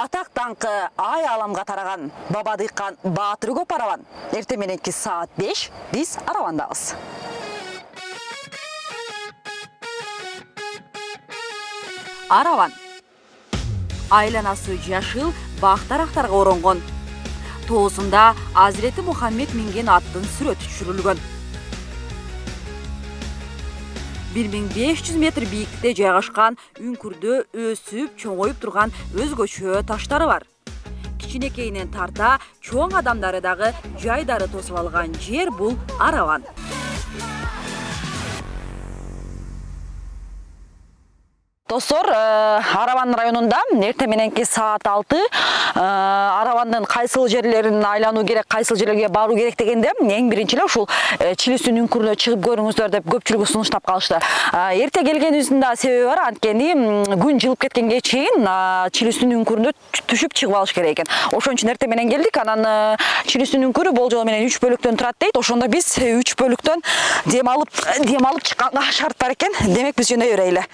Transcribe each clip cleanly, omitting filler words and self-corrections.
Атак даңкы ай аламга тараган баба дыйкан Баатыр көп араван. Эртең мененки саат 5 биз аравандабыз. Араван. Айланасы жашыл бак-дарактарга оронгон. Тоосунда Азирети Мухаммед минген аттын сүрөтү түшүрүлгөн. 1500 метр бийиктикте жайгашкан үңкүрдө өсүп, чоңоюп турган өзгөчө таштары бар. Кичинекейинен тарта чоң адамдары дагы жайдары тосуп алган жер бул Араван. Достор, Араван районунда эртең мененки саат 6 Аравандын кайсыл жерлерин айлануу керек, кайсыл жерлерге баруу керек дегенде эң биринчи эле ушул Чилүстүн үңкүрүнө чыгып көрүңүздөр деп көпчүлүгү сунуштап калышты. Эрте келгенибиздин да себеби бар, анткени күн жылып кеткенге чейин Чилүстүн үңкүрүнө түшүп чыгып алыш керек экен. Ошон үчүн эртең менен келдик. Анан Чилүстүн үңкүрү болжол менен 3 бөлүктөн турат дейт. Ошондо биз 3 бөлүктөн дем алып чыкканга шарт бар экен. Демек биз жөнөй берели.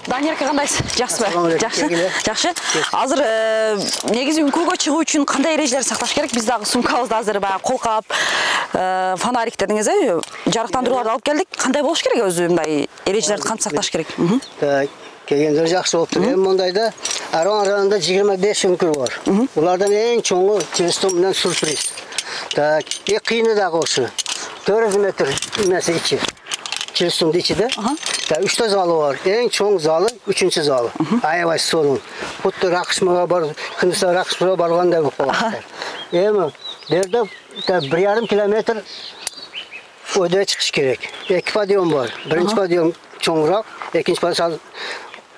Даниярка кандайсыз? Жакшыбы? Жакшы. Азыр негизи үңкүргө чыгуу үчүн кандай эрежелерди сакташ керек? Биз дагы сумкабызды азыр баягы колкап, фонарик дедиңиз, жарыктандырууларды алып келдик. Кандай болуш керек өзү мындай эрежелерди кантип сакташ керек? Келгендер жакшы болуптур. Эми мондайда Араван районунда 25 үңкүр бар. Булардан эң чоңу Чилүстүн менен сюрприз. Кыйыны дагы ошо. 400 метр эмеси ичи. Чилүстүн ичиде. 3 залы бар. Эң чоң залы 3-чү залы. Аябай сонун. Бутты ракышмага бар, кындыса ракышмага баргандай болуп калат. Эми берде 1,5 километр өйдө чыгыш керек. 2 подъем бар. Биринчи подъем чоңураак, экинчи подъем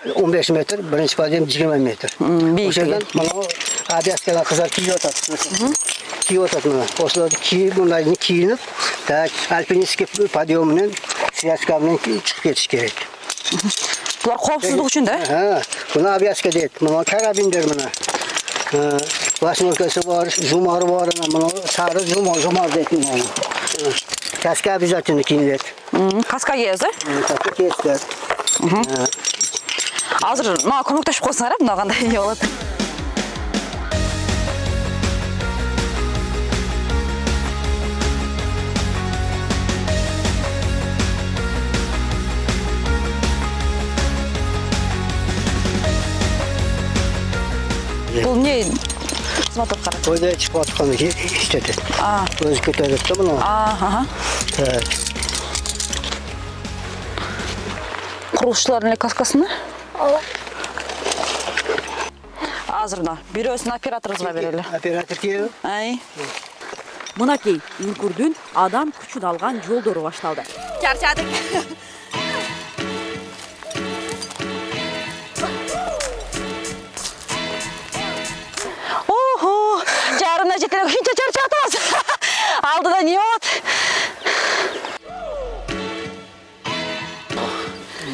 15 метр, биринчи подъем 20 метр. Ошондон мына авиацияга кыздар кийип атат. Кийип атат мына. Ошолорду кийип, мындайны кийинип, альпинистский подъем менен связка менен чыгып кетиш керек. Булар коопсуздук үчүн да? Мына авиацка дейт. Мына карабиндер мына. Восьмеркасы бар, жумары бар, мына сары жумар дейт мына. Каска обязательно кийинет. Каска кийесиз, Каска кийесиз. Азыр мага көмөктөшүп койсоңар, мына кандай эмне болот? Бул эмне кызмат аткарат? Өйдө чыгып аткан иштетет. Өзү көтөрөт да мына. Курулушчулардын эле каскасына? Азыр мына бирөөсүн операторубузга берели. Оператор кийиби? Мынакей үңкүрдүн адам күчүн алган жолдору башталды. Чарчадык. Жарына жетелеп ушунча чарчап атабыз. Алдыда эмне болот?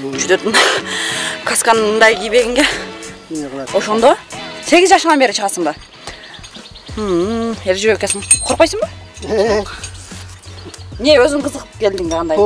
Жүдөрдүн касканындай кийбегенге. Ошондо 8 жашыңан бери чыгасыңбы? Эр жүрөк экенсиң. Коркпойсуңбу? Не өзүң кызыгып келдиң да кандай?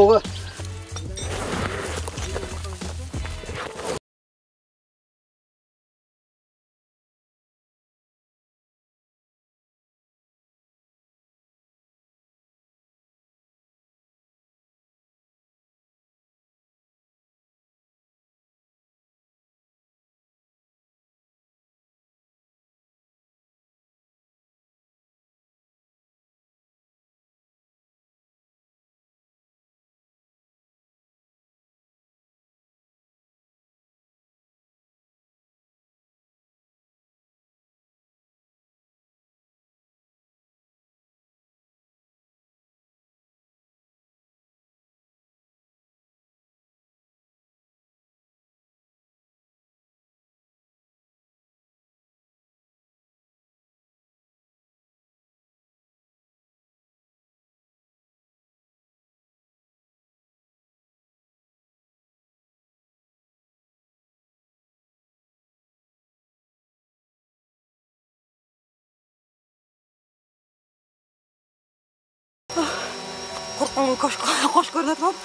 Кош көрүнөт болуп,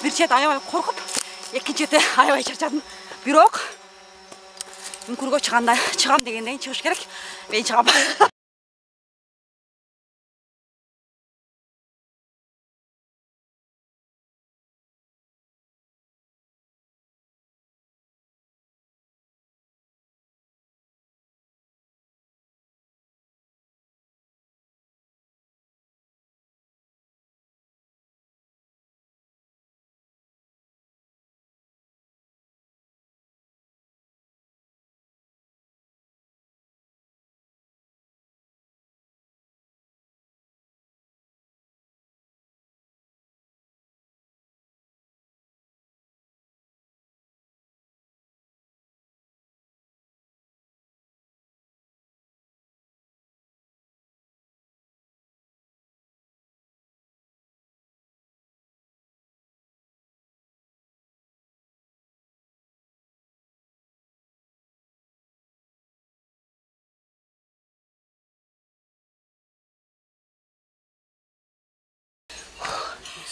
бир чет аябай коркуп, экинчи чети аябай чарчадым. Бирок үңкүргө чыгам дегенден чыгыш керек. Мен чыгам.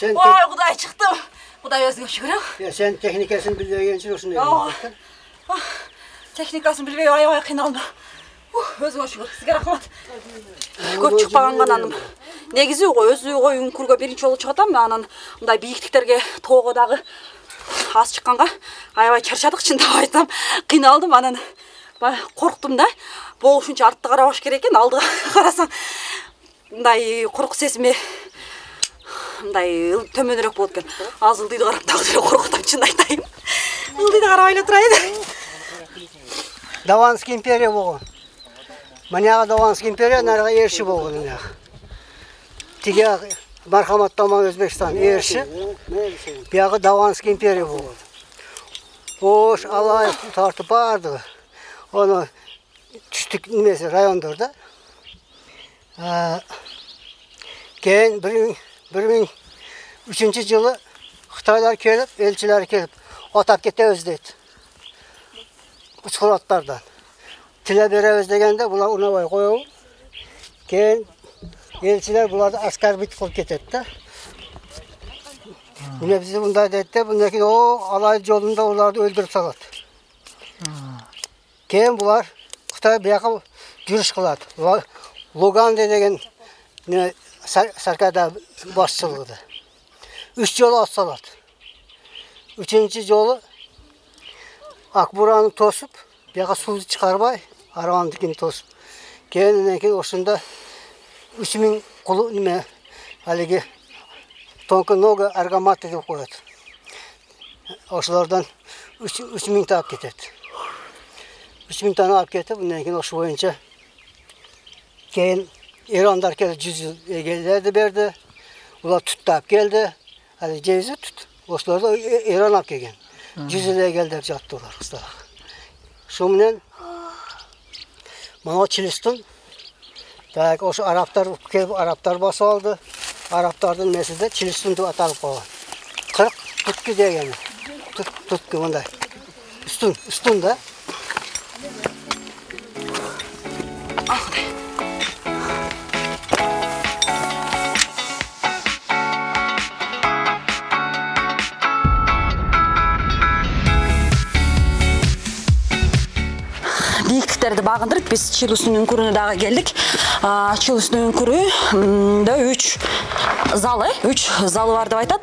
Ой, Кудай чыктым. Кудай өзүңө шүгүр. Sen техникасын билбегенчи ушундай. Техникасын билбей аябай кыйналдым. Өзүңө шүгүр. Сизге рахмат. Көп чыкпаганга анан. Негизи өзү үңкүргө биринчи жолу чыгатам, анан мындай бийиктиктерге тоого дагы аз чыкканга аябай чарчадык, чындап айтсам. Кыйналдым, анан корктум да. Болушунча артта карабаш керек экен, алдыга карасаң мындай корку сезими мындай төмөнүрөөк болот экен. Азыр ылдыйды карап дагы эле коркутам, чын айтайын. Ылдыйды карабай эле турайын. Даванский империя болгон. Манага Даванский империя, нарага Эрши болгон. Тиги Мархамат Таман Өзбекстан Эрши. Бияга Даванский империя болгон. Ош Алаев тартып барды. Оны түштүк немеси райондордо. Кийин 2003-жылы Кытайлар келип, элчилер келип, атап кетебиз дейт. Учкурлаттардан. Тиле беребиз дегенде булар унабай коебу. Кийин элчилер буларды аскарбит кылып кетет да. Мына бизди мындай дейт да, мындан кийин алай жолунда уларды өлтүрүп салат. Кийин булар Кытай бияка жүрүш кылат. Луганде деген Саркада башчылыгында. 3 жолу ат салат. 3-нчи жолу Акбураны тосуп, бияка сууну чыгарбай, Аравандыкин тосуп. Кийин ошондо 3000 кулу неме алиги тонко нога аргаматы деп коет. Ошолордон 3000 таап кетет. 3000 таны алып кетип, андан кийин ошо боюнча кийин İranlar geldi, 100 yıl egelerdi berdi. Ular tuttap geldi. Hadi cevizi tut. Oşlar da İran ap gelgen. 100 yıl egeler jattılar kızlar. Şumnen mana Çilistin. Tak oşu Araplar basıp aldı. Araplardan meselde Çilistin de atalып kaldı. 40 tutku degeni. Tut mınday. Üstün da. Биіктіктерді бағындырып, біз Чилустың үңкүрүнө дагы келдик. Чилустың үңкүрүндө 3 залы бар деп айтат.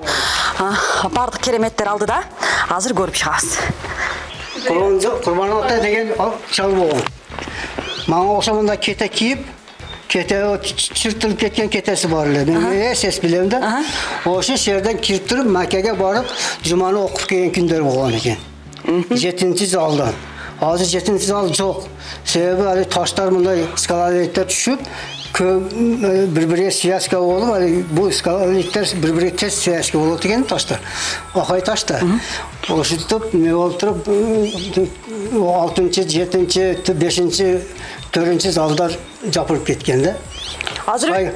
Бардык кереметтер алдыда. Азыр көрүп чыгабыз. Курбан Ата деген чал болгон. Мага окшогондо кете кийип, кете чыртылып кеткен кетеси бар эле. Мен эсес билем да. Ошо жерден кирип туруп Маккага барып, жуманы окуп келген күндөр болгон экен. 7-залдан. Азыр 7-зал жок. Себеби али таштар мындай скалалиттер түшүп, bir-biriga связка болуп, бул скалалиттер bir-biriga тез связка болот экен таштар. Акай ташта. Ошентип, не болуп туруп, 6-чы, 7-чи, 5-чи, 4-чи залдар жапырып кеткен да. Азыр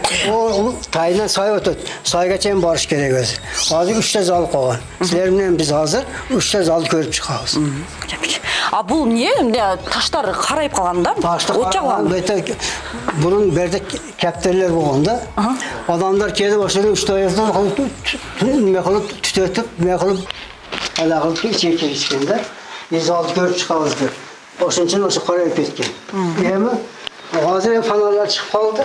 тайынан сай өтөт. Сайга чейин барыш керек өзү. Азыр 3 зал калган. Силер менен биз азыр 3 залды көрүп чыгабыз. Бул эмне таштар карайып калган да? От жагылган. Bunun berде кептерлер болгон да. Адамдар келип ошол 3 таяздан неме кылып түтөтүп, неме кылып алагыл чекиришкен да. Биз алып көрүп чыгабыз деп. Ошон үчүн ошо карайып кеткен. Эми азыр фонарлар чыгып калды.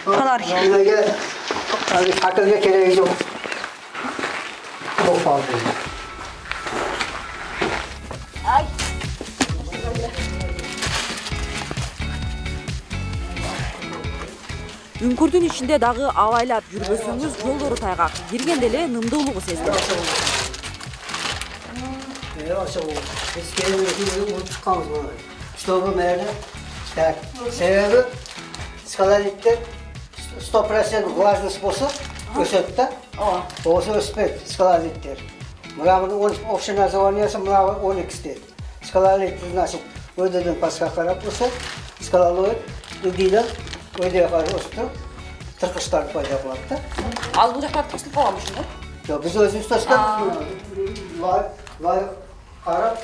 Фонар. Эмеге акылга кереги жок. Үңкүрдүн ичинде дагы абайлап жүрбөсөңүз жолдору тайгак. Киргенде эле нымдуулугу сезилет. Biz kendimizi çıkamız bunu. Stop'u nerede? Так, себеби скалолиттер 100% влажный способ өсөт да. Осы өспөйт скалолиттер. Мына общий названиясы мына 12 дейт. Скалолит значит өйдөдөн паска карап өсөт. Скалолит дейди. Өйдөгө карап өстүп, тыркыштар пайда болот да. Ал бул жактан тосулуп калган ушунда? Жок, биз өзүбүз тоскан. Лай карап,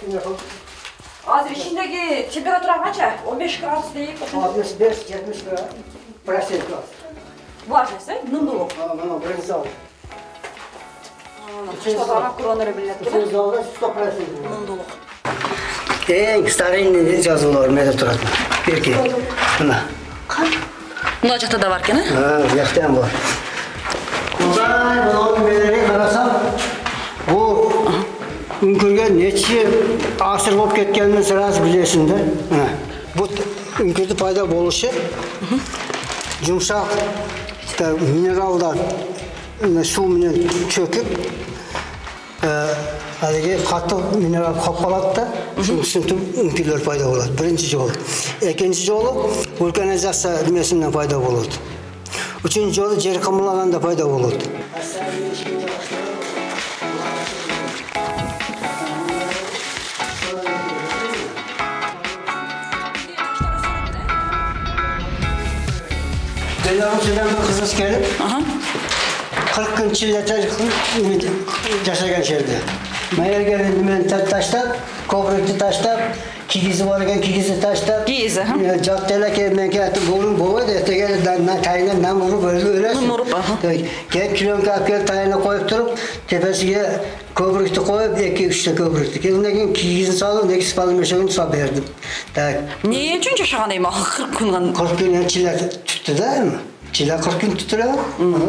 Азыр ичиндеги температура канча? 15 градус дейт. 65-70%. Влажность, нымдуулук. Мына биринчи зал. Ага, көргөндөр билет. Üçüncü zalda 100% Нымдуулук. Эң старинный жазуулар менде турат. Берки. Мына. Мына жакта да бар экен, Жактан бар. Мына менен карасам, бул үңкүргө нече асыр болуп кеткенин сразу билесиң да. Бул үңкүрдүн пайда болушу жумшак минералдар суу менен чөкүп, алиги катуу минерал калат да, ушинтип үңкүрлөр пайда болот. Биринчи жолу. Экинчи жолу вулканизация эмесинен пайда болот. Үчүнчү жолу жер камылаганда пайда болот. Belarus'dan bir kızız gelip 40 gün çilete yaşayan şerde. Meğer gelin ben taşta, kobruktu taşta, kigizi varken kigizi taşta. Kigizi, caddeler kelmen geldi, bolun boğu da ete geldi, tayına nam vurup öyle. Gel kilon kapıya tayına koyup durup, tepesiye kobruktu koyup, 2-3 kobruktu. Kendine kigizini saldım, nekisi falan meşeğini sal verdim. Niye üçün yaşayan eymi? 40 gün. 40 gün çile tuttu değil mi? Çile 40 gün tutuyor.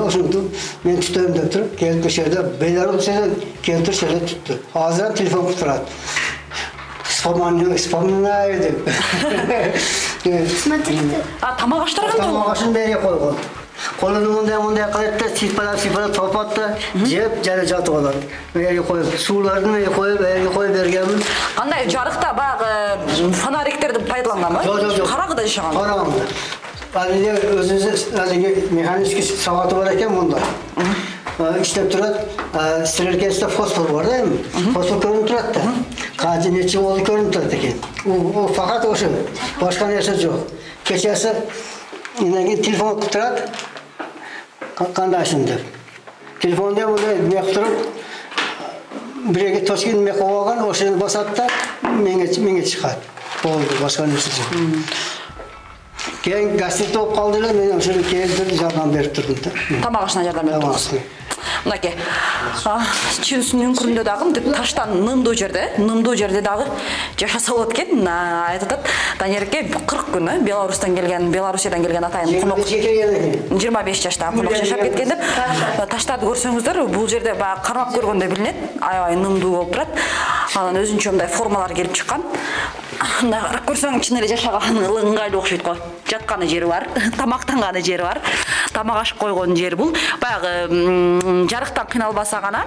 Oşundu, ben tutuyorum da tutup, gelip dışarıda, Belarus'ta gelip dışarıda tuttu. Ağzından telefon tutuyor. Spamına ayırdı. Tamam açtırgan da? Tamam açın beri koygun. Kolunu bunday kılıp da sipalap topattı, cep jana жатып алат. Beri koyup, sularını beri koyup bergenmin. Qanday жарыкта баягы фонариктерди пайдаланганбы? Жок. Карагыда жашаган. Караганда. Алиде өзүнүн механикский сабаты бар экен мында. İşlep turat, sirerkesinde fosfor var değil mi? Fosfor görünüp turat da. Kaçı neçe oldu görünüp turat eken. O fakat o şey, başka neyse yok. Keçesi, yine telefon turat, kandaşın der. Telefonda burada ne tutup, биреге точки неме кылып алган, ошону басат да меңе чыгат. Болду, башка нерсе жок. Keyin gastrit olup kaldılar, ben şöyle keldim, jardam berip durdum da. Тамак ашына жардам берип турасыз. Мынакей. Чүрүсүнүн үңкүрүндө дагы мынтип таштан нымдуу жерде дагы жашаса болот экен. Айтып атат. Данерке 40 күн Беларусьтан келген атайын конок 25 жаштагы конок жашап кеткен деп. Таштарды көрсөңүздөр, бул жерде баягы кармап көргөндө билинет. Аябай нымдуу болуп турат. Анан өзүнчө мындай формалар келип чыккан. Мындай карап көрсөң, чын эле жашаган ыңгайлуу окшойт го. Жатканы жери бар, тамактанганы жери бар. Тамак ашып койгон жер бул. Баягы жарыктан кыйналбаса гана,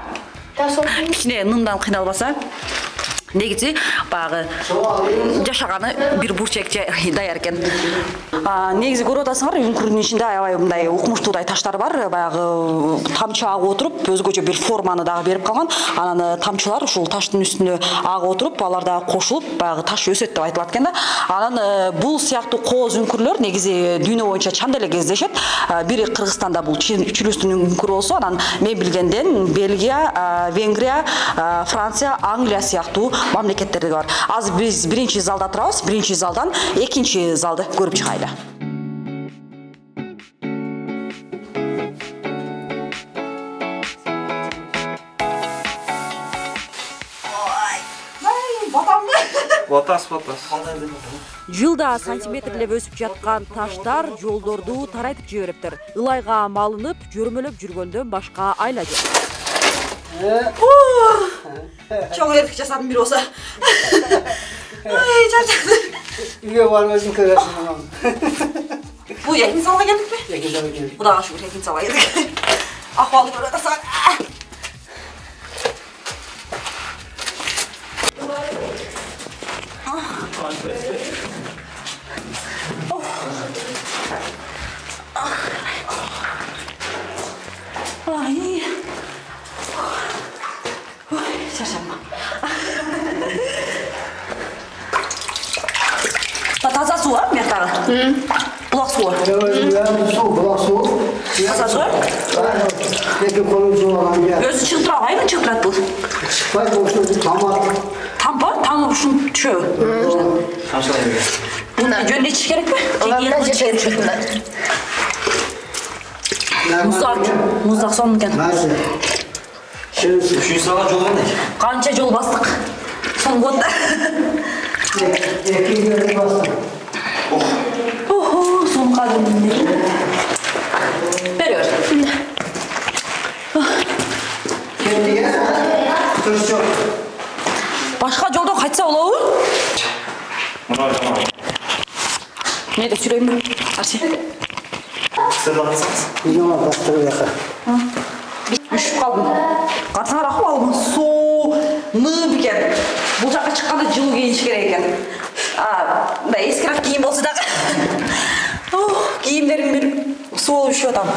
кичине нымдан кыйналбаса, негизи баягы жашаганы бир бурчек даяр экен. Негизи көрүп атасыңар, үңкүрдүн ичинде аябай мындай укмуштуудай таштар бар. Баягы тамчы агып отуруп, өзгөчө бир форманы дагы берип калган. Анан тамчылар ушул таштын үстүнө агып отуруп, алар дагы кошулуп, баягы таш өсөт деп айтылат экен да. Анан бул сыяктуу кооз үңкүрлөр негизи дүйнө боюнча чанда эле кездешет. Бири Кыргызстанда бул чүрүстүн үңкүрү болсо, анан мен билгенден Бельгия, Венгрия, Франция, Англия сыяктуу мамлекеттерде бар. Азыр биз биринчи залда турабыз. Биринчи залдан экинчи залды көрүп чыгайлы. Батас. Жылда сантиметрлеп өсүп жаткан таштар жолдорду тарайтып жибериптир. Ылайга малынып, жөрмөлөп жүргөндөн башка айла жок. Чоң эртик жасадым бир болсо. Чарчадым. Үйгө барып өзүң көрөсүң. Бул экинчи залга келдикпи? Экинчи залга келдик. Кудайга шүгүр экинчи залга келдик. Акыбалды көрүп атасың. Таза суу бар мыяктагы? Булак суу. Булак суу. Таза суу? Эки колун жууган жер. Өзү чыгып турабы, кайдан чыгып турат бул? Чыкпайт, ошо тамак. Тампа? Тамып ушун түшөбү? Муну жөн ичиш керекпи? Муздак сонун экен. Үшүнчү залга жол кандай? Канча жол бастык? Сон болот да. Эки жол бастык. Сон кадимдей. Бери бер. Кемдиге? Туруш жок. Башка жолдон кайтса болобу? Мына жаман. Мен деп сүрөймүн. Арчи. Сен барасыңыз? Жаман бастырып яка. Үшүп калдым. Карасаңар акыбалым суу ным экен. Бул жака чыкканда жылуу кийиниш керек экен. Мындай эскирак кийим болсо дагы. Кийимдерим бир суу болуп üşүп атам.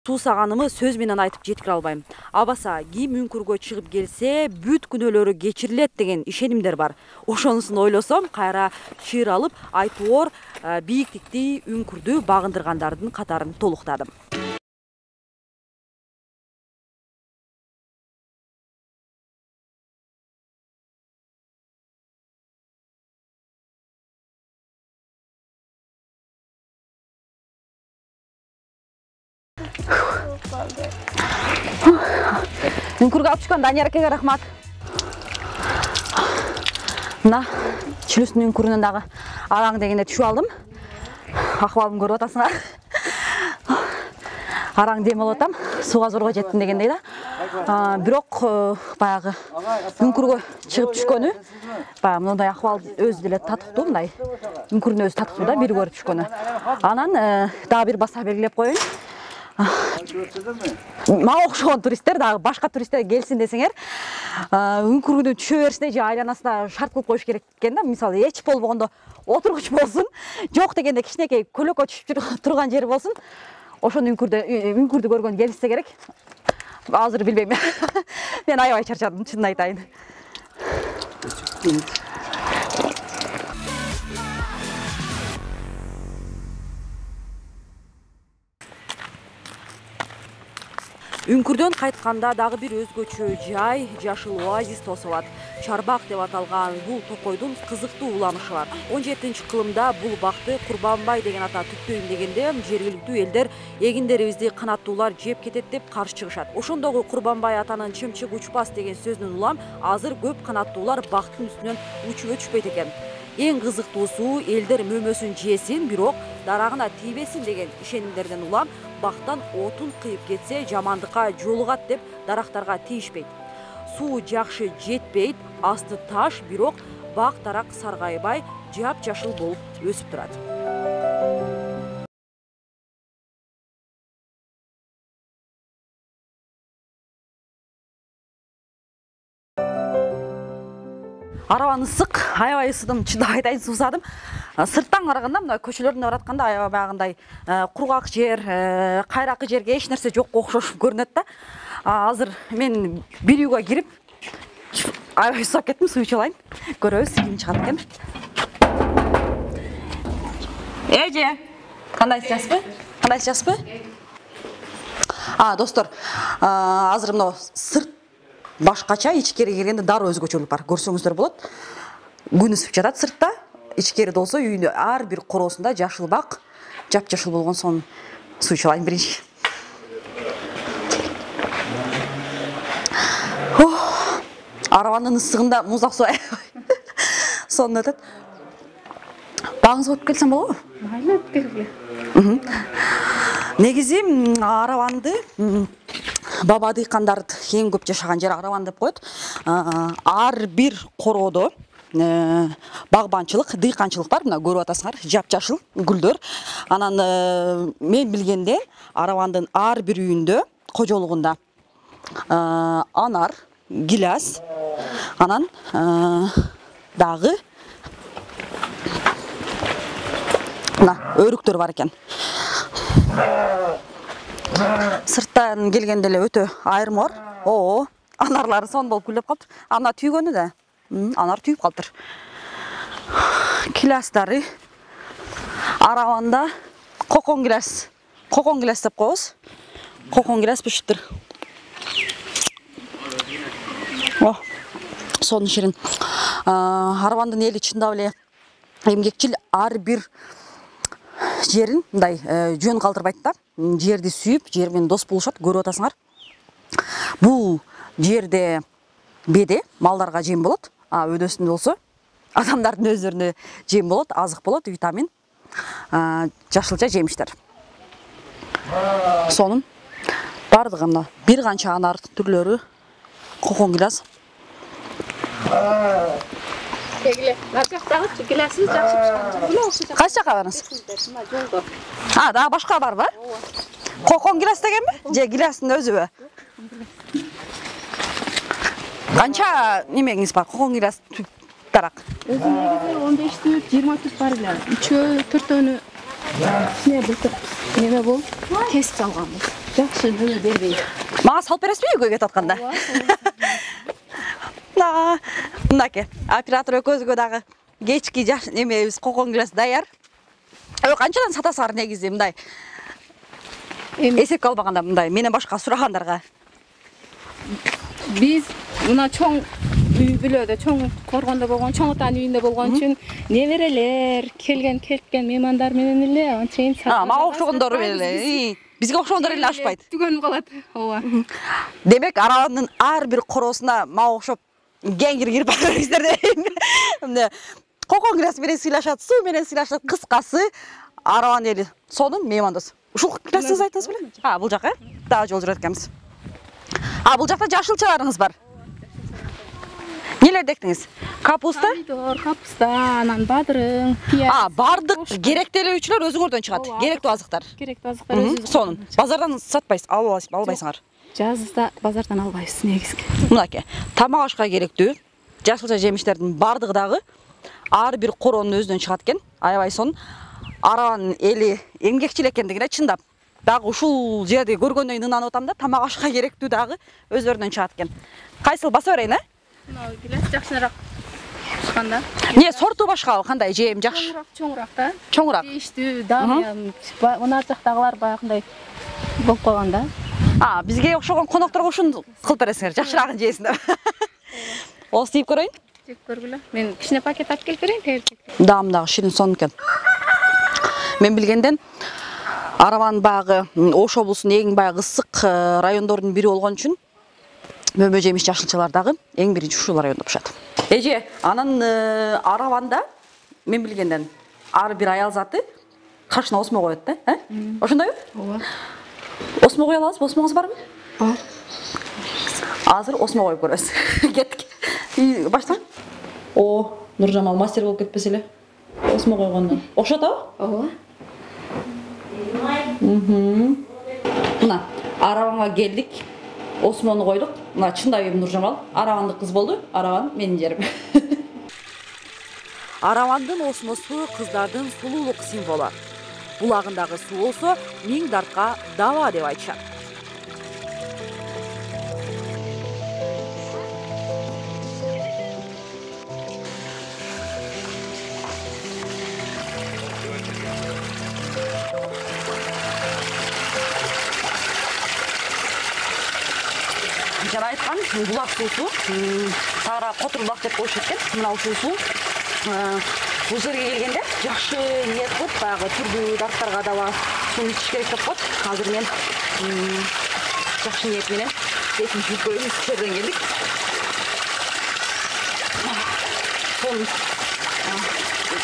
Суусаганымы сөз менен айтып жеткире албайм. Абаса ким үңкүргө чыгып келсе, бүт күнөөлөрү кечирилет деген ишенимдер бар. Ошонусун ойлосом, кайра чыйыр алып, айтоор бийиктикти үңкүрдү багындыргандардын катарын толуктадым. Үңкүргө алып чыккан Данияр акеге рахмат. Мына Чүлүстүн үңкүрүнөн дагы агаң дегенде түшүп алдым. Акыбалымды көрүп атасыңар. Араң дем алып атам, сууга зорго жеттим дегендей да. Бирок баягы үңкүргө чыгып түшкөнү, баягы мындай акыбал өзү деле татыктуу, мындай үңкүрдүн өзү татыктуу да, бир көрүп түшкөнү. Анан дагы бир баса белгилеп коеюн. Мага окшогон туристтер дагы башка туристтер келсин десеңер, үңкүргүнү түшө бериште же айланасына шарт кылып коюш керек экен да. Мисалы, эч болбогондо отургуч болсун, жок дегенде кичинекей көлөккө түшүп турган жери болсун. Ошону үңкүрдү көргөн келишсе керек. Азыр билбейм. Мен аябай чарчадым, чынын айтайын. Үңкүрдөн кайтканда дагы бир өзгөчө жай жашыл оазис тосуп алат. Чарбак деп аталган бул токойдун кызыктуу уламышы бар. 17-кылымда бул бакты Курбанбай деген ата түптөйм дегенде жергиликтүү элдер эгиндерибизди канаттуулар жеп кетет деп каршы чыгышат. Ошондогу Курбанбай атанын чымчык учпас деген сөзүнөн улам азыр көп канаттуулар бактын үстүнөн учуп өтүшпөйт экен. Эң кызыктуусу элдер мөмөсүн жесин, бирок дарагына тийбесин деген ишенимдерден улам бактан отун кыйып кетсе жамандыкка жолугат деп дарактарга тийишпейт. Суу жакшы жетпейт, асты таш, бирок бак дарак саргайбай жап-жашыл болуп өсүп турат. Арабаны ысык, аябай ысыдым, чындап айтайын, суусадым. Сырттан караганда мына көчөлөрдөн баратканда аябай баягындай кургак жер, кайракы жерге эч нерсе жок окшош көрүнөт да. Азыр мен бир үйгө кирип аябай сууап кеттим, суу ичип алайын. Көрөбүз ким чыгат экен. Эже, кандайсызбы? Кандайсызбы? Достор, азыр мына сырт башкача, ичкери киргенде дароо өзгөчөлүк бар. Көрсөңүздөр болот. Күн ысып жатат сыртта. Ичкери болсо үйүнүн ар бир короосунда жашыл бак, жап-жашыл болгон сон суу ичип алайын биринчи. Арабанын ысыгында музак суу сонун өтөт. Багыңыз болуп келсем болобу? Айла келгиле. Негизи Арабанды баба дыйкандар эң көп жашаган жер Арабан деп коет. Ар бир короодо багбанчылык, дыйканчылык бар. Мына көрүп атасыңар, жап-жашыл гүлдөр. Анан мен билгенде Арабандын ар бир үйүндө, кожолугунда анар, гиляс, анан дагы мына өрүктөр бар экен. Сырттан келгенде эле өтө айырым бар. Анарлары сон болуп гүлдөп калыптыр. Ана түйгөнү да. Анар түйүп калыптыр. Гилястары Арабанда кокон гиляс деп коебуз. Кокон гиляс пишиптир. Сонун ширин. Арабандын эли чындап эле эмгекчил, ар бир жерин мындай жөн калтырбайт да. Жерди сүйүп, жер менен дос болушат, көрүп атасыңар. Бул жерде беде малдарга жем болот, өдөсүндө болсо адамдардын өздөрүнө жем болот, азык болот, витамин, жашылча жемиштер. Сонун бардыгы мына бир канча анар түрлөрү, кокон гиляс. Келе, наржактагы гилясыз жакшы пишкен. Кайсы жака барыңыз? Мына жолдо. Дагы башка барбы? Кокон гиляс дегенби? Же гилястын өзүбү? Канча немеңиз бар? Кокон гиляс дарак. Өзүнүгү 15 20 бар эле. 3-4 неме болуп кесип алганбыз. жакшы бөлө бербейт. Мага салып бересизби үйгө кетип атканда? Мынакей, оператор экөөбүзгө дагы кечки жаш немебиз кокон гилес даяр. Канчадан сатасыңар негизи мындай? Эсепке албаганда мындай менен башка сурагандарга. Биз мына чоң үй бүлөдө, чоң коргондо болгон, чоң атанын үйүндө болгон үчүн неберелер, келген меймандар менен эле анчейин сатып. Мага окшогондор эле. Бизге окшогондор эле ашпайт. Түгөнүп калат. Ооба. Демек, араванын ар бир коросуна мага окшоп кеңир кирип барыңыздар дейм. Кокон гилес менен сыйлашат, суу менен сыйлашат. Кыскасы, араван эли сонун меймандос. Ушул гилесиңиз айтыңыз беле? Бул жака, дагы жол жүрөт экенбиз. Бул жакта жашылчаларыңыз бар. Нелерди эктиңиз? Капуста? Помидор, капуста, анан бадырың, пияз. Бардык керектелүүчүлөр өзүңөрдөн чыгат. Керектүү азыктар. Керектүү азыктар өзүбүз. Сонун. Базардан сатпайсыз, албайсыңар. Жазда базардан албайбыз негизги. Мынакей, тамак ашка керектүү жашылча жемиштердин бардыгы дагы ар бир коронун өзүнөн чыгат экен. Аябай сонун. Араванын эли эмгекчил экендигине чындап. Дагы ушул жерди көргөндөн кийин ынанып атам да, тамак ашка керектүү дагы өзлөрүнөн чыгат экен. Кайсыл баса берейин, Мына гилес жакшыраак чыкканда. Не сорту башкабы, кандай жем жакшы? Чоңураак да. Чоңураак. Ийиштүү, дагы мына жактагылар баягындай болуп калган да. Бизге окшогон конокторго ушуну кылып бересиңер, жакшыраагын жейсин деп. Осу тийип көрөйүн. Жеп көргүлө. Мен кичине пакет алып келип берейин, тегерек. Дагы ширин сонун экен. Мен билгенден Араван багы Ош облусунун эң баягы ысык райондордун бири болгон үчүн мөмө жемиш жашылчалар дагы эң биринчи ушул райондо пышат. Эже, анын Араванда мен билгенден ар бир аял заты кашына осмо коет да, Ошондойбу? Ооба. Осмо кое аласызбы? Осмоңуз барбы? Бар. Азыр осмо коюп көрөбүз. Кеттик. Баштан. Нуржамал мастер болуп кетпесе эле. Осмо койгондон. Окшот абы? Ооба. Мына, Араванга келдик. Осмону койдук. Мына чындап Нуржамал Аравандык кыз болду. Араван менин жерим. Аравандын осмосу кыздардын сулуулук символу. Булагындагы суу болсо миң дартка дава деп айтышат. Жана айткан булак суусу, тагыра котур булак деп коюшат экен. Мына ушул суу бул жерге келгенде жакшы ниет кылып, баягы түрдүү дарттарга дагы сууну ичиш керек деп коет. Азыр мен жакшы ниет менен бетин жууп коеюн, ысык жерден келдик. Сонун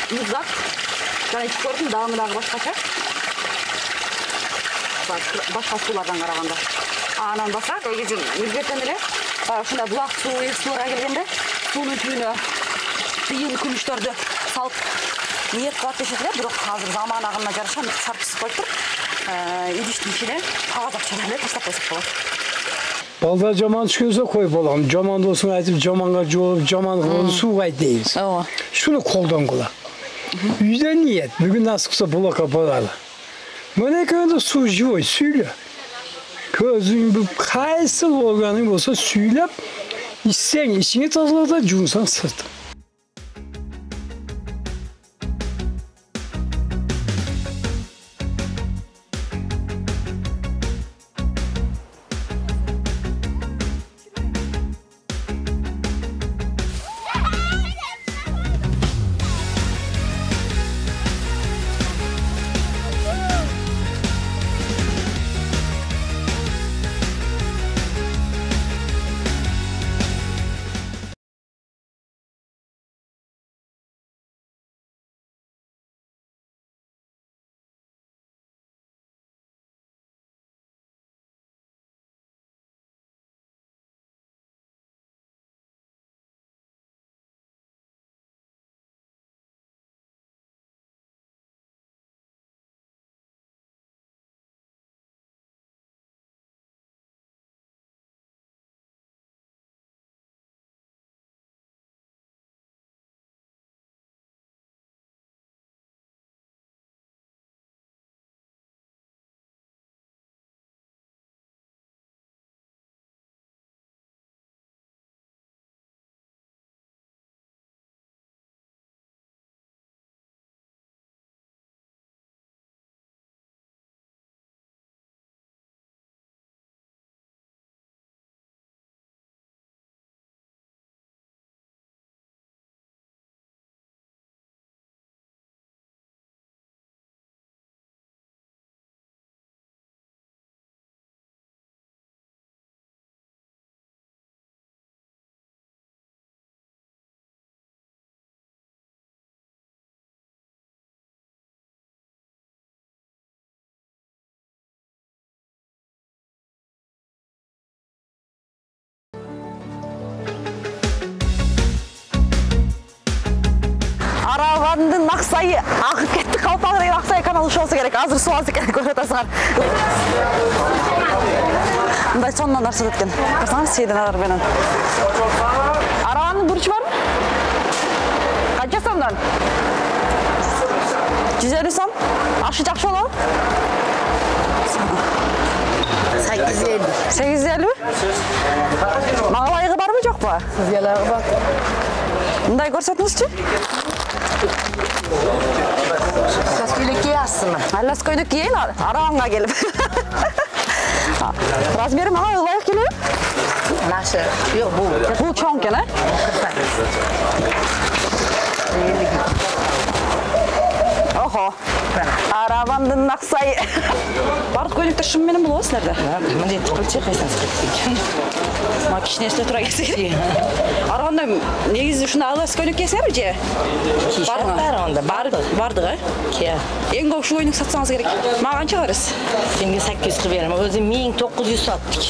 музак. Жана ичип көрдүм, дагы башкача. Башка суулардан караганда. Анан баса, негизи милдеттен эле ушундай булак суу, эс сууга келгенде суунун түбүнө тыйын күмүштөрдү салып ниет кылат дешет эле, бирок азыр заман агымына жараша сарпсыз коюп тур. Идиштин ичине кагаз акчаны эле таштап койсок болот. Балдар жаман түшкөнсө кой болгон. Жаман досуң айтып, жаманга жооп, жаман кылып сууга айт дейбиз. Ооба. Шуну колдонгула. Үйдө ниет, бүгүн насыкса булакка баралы. Мына экөөндө суу живой, сүйлө. Көзүң бүп кайсыл болгоның болсо сүйлөп, ичсең ичиңе тазалата, жуунсаң сырт. Аксай агып кетти. Калпак деген Аксай каналы ушолса керек. Азыр суу алса керек көрүп атасыңар. Мындай сонун нарса өткөн. Карасаңар сейден алар менен. Арабанын бурчу барбы? Канча сомдон? 150 сом. Ашы жакшы болобу? 850. 850? Маңалайгы барбы жокпу? Ялағы бар. Мындай көрсөтүңүзчү. Көйлек киясызмы? Аллас көйнөк кийейин Арабанга келип. Размери мага ылайык келеби? Нашы. Yok bu. Бул чоң экен, э? Охо. Арабандын Аксай. Бардык көйнөктөр шын менен болобу силерде? Мындай кылчы кайсаңыз кетпейт. Ма кичине эсте тура келсек. Арабанда негизи ушундай алас көйнөк кийесиңерби же? Барында Бардык, э? Кия. Эң көп ушу көйнөк сатсаңыз керек. Мага канча бересиз? Сенге 800 берем. Өзү 1900 саттык.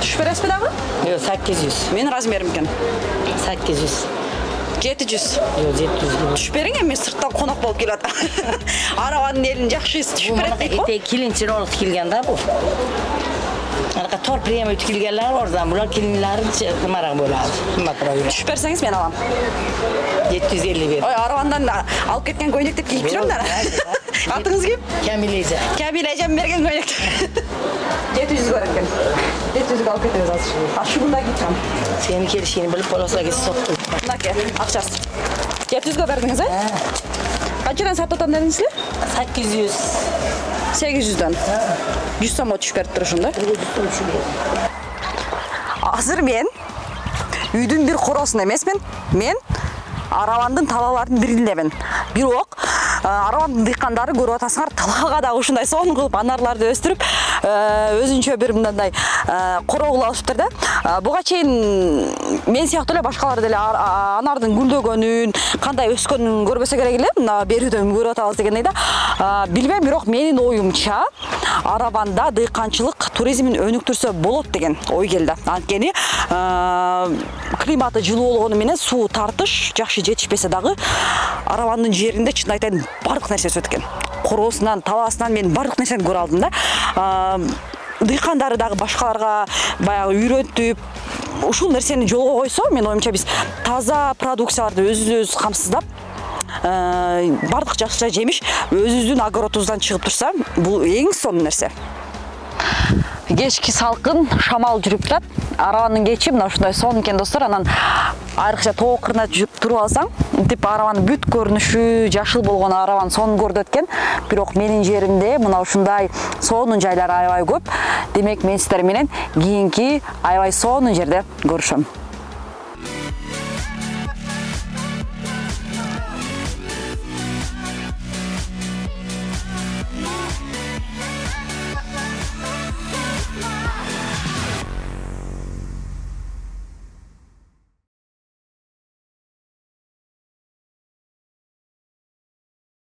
Түшүп бересизби дагы? Yok 800. Менин размерим экен. 800. 700. Yok 700 gibi. Түшүп бериң, мен сырттан конок болуп келип атам. Арабанын элин жакшы түшүп берет дейт го. Ete kilinçin olup kilgen da bu. Arka tor priyem ötkilgenler oradan. Bunlar kilinlerin marak boladı. Түшүп берсеңиз мен алам. 750 ver. Ой, Арабандан алып кеткен көйнөктү кийип жүрөм да. Атыңыз ким? Kamilece. Камил эжем берген көйнөктү. 700 көрөт экен. 700 алып кетебиз азыр. Ашыгында кийчем. Senin kelişini bilip olasa git soktu. Мынаке, акчасы. 700 бердиңиз, э? Канчадан сатып атам дедиңизби? 800. 800дөн. 100 сомго түшүп берип турушум да. Азыр мен үйдүн бир коросун эмесмин. Мен Арабандын талааларынын бириндемин. Бирок Арабандын дыйкандары көрүп атасыңар, талаага да ушундай сонун кылып анарларды өстүрүп, өзүнчө бир мындай короо кылып алышыптыр да. Буга чейин мен сыяктуу эле башкалар деле анардын гүлдөгөнүн, кандай өскөнүн көрбөсө керек эле. Мына берүүдөн көрүп атабыз дегендей да. Билбейм, бирок менин оюмча Арабанда дыйканчылык туризмин өнүктүрсө болот деген ой келди. Анткени климаты жылуу болгону менен суу тартыш жакшы жетишпесе дагы Арабандын жеринде чын айтайын бардык нерсеси өткөн. Короосунан, талаасынан мен бардык нерсени көрө алдым да. Дыйкандары дагы башкаларга баягы үйрөтүп, ушул нерсени жолго койсо, мен оюмча биз таза продукцияларды өзүбүз камсыздап, бардык жакшы жемиш өзүбүздүн огородубуздан чыгып турса, бул эң сонун нерсе. Кечки салкын, шамал жүрүп турат. Арабанын кечи мына ушундай сонун экен достор. Анан айрыкча тоо кырына туруп алсаң, мынтип Арабанын бүт көрүнүшү жашыл болгон Арабан сонун көрүнөт экен. Бирок менин жеримде мына ушундай сонун жайлар аябай көп. Демек мен сиздер менен кийинки аябай сонун жерде көрүшөм.